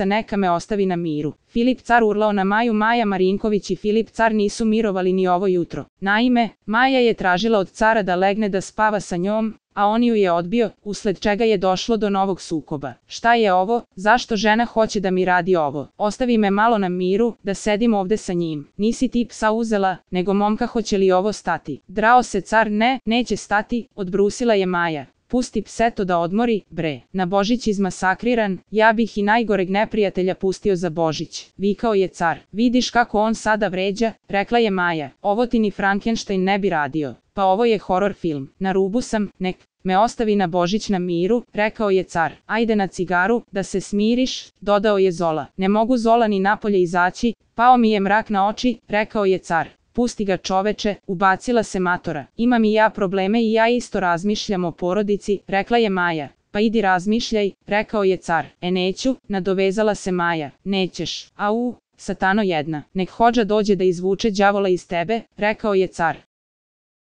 neka me ostavi na miru. Filip car urlao na Maju. Maja Marinković i Filip car nisu mirovali ni ovo jutro. Naime, Maja je tražila od cara da legne da spava sa njom, a on ju je odbio, usled čega je došlo do novog sukoba. Šta je ovo? Zašto žena hoće da mi radi ovo? Ostavi me malo na miru, da sedim ovde sa njim. Nisi ti psa uzela, nego momka, hoće li ovo stati? Drao se car. Ne, neće stati, odbrusila je Maja. Pusti pseto da odmori, bre. Na Božić izmasakriran, ja bih i najgoreg neprijatelja pustio za Božić, vikao je car. Vidiš kako on sada vređa, rekla je Maja. Ovo ti ni Frankenstein ne bi radio. Pa ovo je horor film. Na rubu sam, nek me ostavi na Božić na miru, rekao je car. Ajde na cigaru, da se smiriš, dodao je Zola. Ne mogu Zola ni napolje izaći, pao mi je mrak na oči, rekao je car. Pusti ga čoveče, ubacila se matora. Imam i ja probleme i ja isto razmišljam o porodici, rekla je Maja. Pa idi razmišljaj, rekao je car. Neću, nadovezala se Maja. Nećeš, au, satano jedna. Nek hodža dođe da izvuče đavola iz tebe, rekao je car.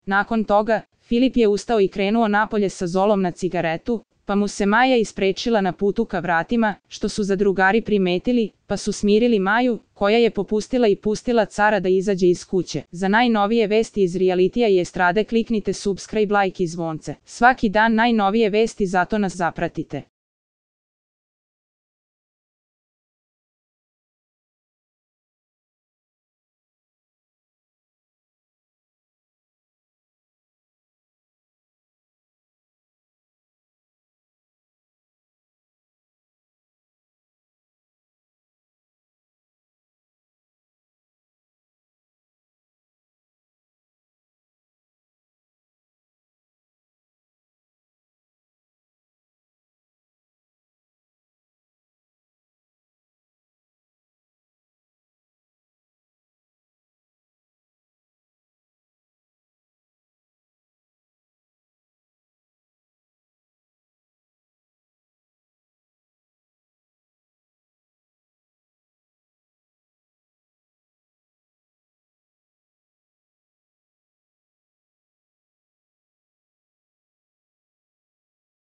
Nakon toga, Filip je ustao i krenuo napolje sa Zolom na cigaretu, pa mu se Maja isprečila na putu ka vratima, što su zadrugari primetili, pa su smirili Maju, koja je popustila i pustila cara da izađe iz kuće. Za najnovije vesti iz realitija i estrade kliknite subscribe, like i zvonce. Svaki dan najnovije vesti, zato nas zapratite.